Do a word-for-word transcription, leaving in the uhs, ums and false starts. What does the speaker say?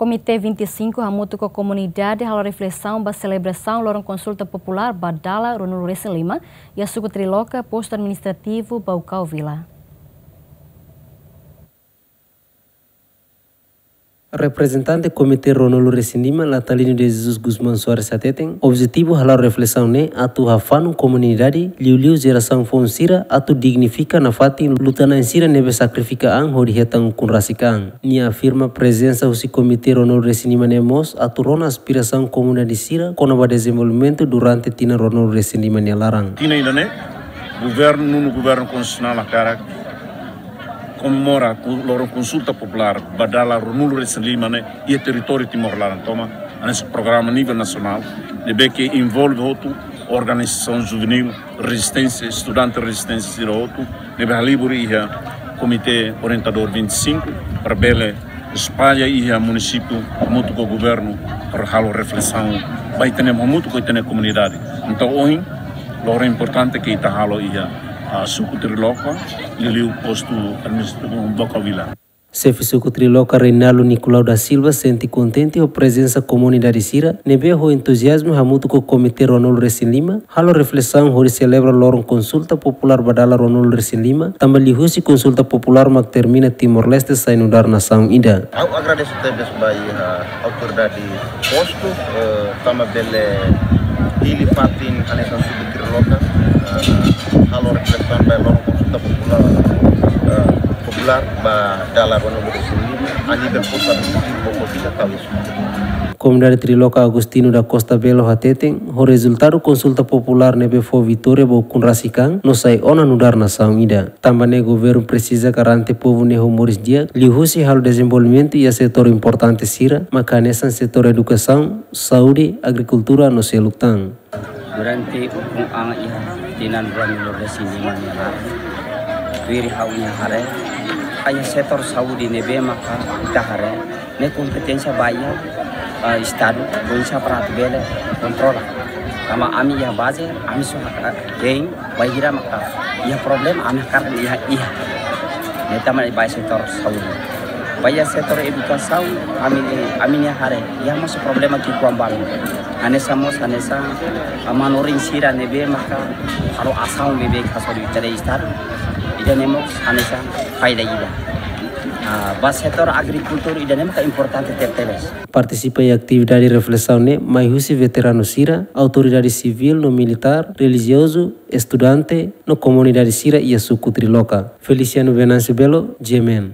Komité vinte e cinco hamutuk ho komunidade halo reflesaun ba selebrasaun loron konsulta populár ba dala ruanulu-resin-lima iha suku Triloka, postu administrativu Baucau Vila. Reprezentante Komité ruanulu-resin-lima, Latalino de Jesus Gusmão Soares hateten, objetivu hala'o reflesaun ne'e atu hafanu komunidade, liuliu jerasaun foun sira atu dignifika nafatin luta-na'in sira ne'ebé sakrifika an hodi hetan ukun rasik an. Nia afirma prezensa husi Komité ruanulu-resin-lima ne'e mós atu rona aspirasaun komunidade sira kona-ba dezenvolvimentu durante tinan ruanulu-resin-lima nia laran. Tinan ida-ne'e, governu, nonu governu konstitusionál hakarak komemora ku-, loron konsulta populár ba dala ruanulu-resin-lima ne'e iha territóriu Timor laran tomak, hanesan programa nivel nasionál, ne'ebé ke envolve hotu organizasaun juvenil rezisténsia, estudante rezisténsia sira hotu, ne'ebé halibur iha Komité Orientadór vinte e cinco, para bele espalla iha munisípiu hamutuk ho governu, para halo reflesaun ba ita-nia hamutuk ho ita-nia komunidade. Entaun, ohin, loron importante ke ita halo iha, ah, suku Triloka, liuliu postu administrativu Baucau Vila. Xefe suku Triloka, Reinaldo Nicolau da Silva, sente kontente ho prezensa komunidade sira ne'ebé ho entuziazmu hamutuk ho Komité ruanulu-resin-lima halo reflesaun hodi selebra loron konsulta populár ba dala ruanulu-resin-lima, tanba liuhusi konsulta populár mak termina Timor-Leste sai nu'udar nasaun ida. Ha'u agradese tebes ba iha autoridade postu, eh, tanba bele hili fatin hanesan suku Triloka, eh, halo reflesaun ba loron konsulta populár, eh, populár ba dala ruanulu-resin-lima, a nivel postu administrativu Baucau Vila tau iha suku. Komunidade Triloka Agostinho da Costa Belo hateten, ho rezultadu konsulta populár ne'ebé fó vitória ba ukun rasik an no sai ona nu'udar nasaun ida. Tanba ne'e governu presiza garante povu ne'e ho moris di'ak, liuhusi halo dezenvolvimentu iha setór importante sira, maka hanesan setór edukasaun, saúde, agrikultura no seluk tan. Durante ukun an iha tinan ruanulu-resin-lima nia laran, tuir ha'u-nia haree, iha setór saúde ne'ebé maka ita haree, ne'e kompeténsia ba iha, eh, Estadu, oinsá para atu bele kontrola. Tanba ami iha baze, ami só, eh, hein, bainhira maka iha problema, ami hakarak iha, iha. Ne'e tanba ba iha setór saúde. Ba iha setór edukasaun, ami, ami-nia haree, iha mós problema ki'ikoan balu. Hanesan mós, hanesan, ah, manorin sira ne'ebé maka halo asaun beibeik hasoru ita-nia Estadu. Ida-ne'e mós hanesan falla ida. Ah, ba setór agrikultura ida-ne'e maka importante tebetebes. Partisipa iha atividade reflesaun ne'e mai husi veteranu sira, autoridade sivíl no militár, relijiozu, estudante, no komunidade sira iha suku Triloka. Feliciano Venâncio Belo, G M N.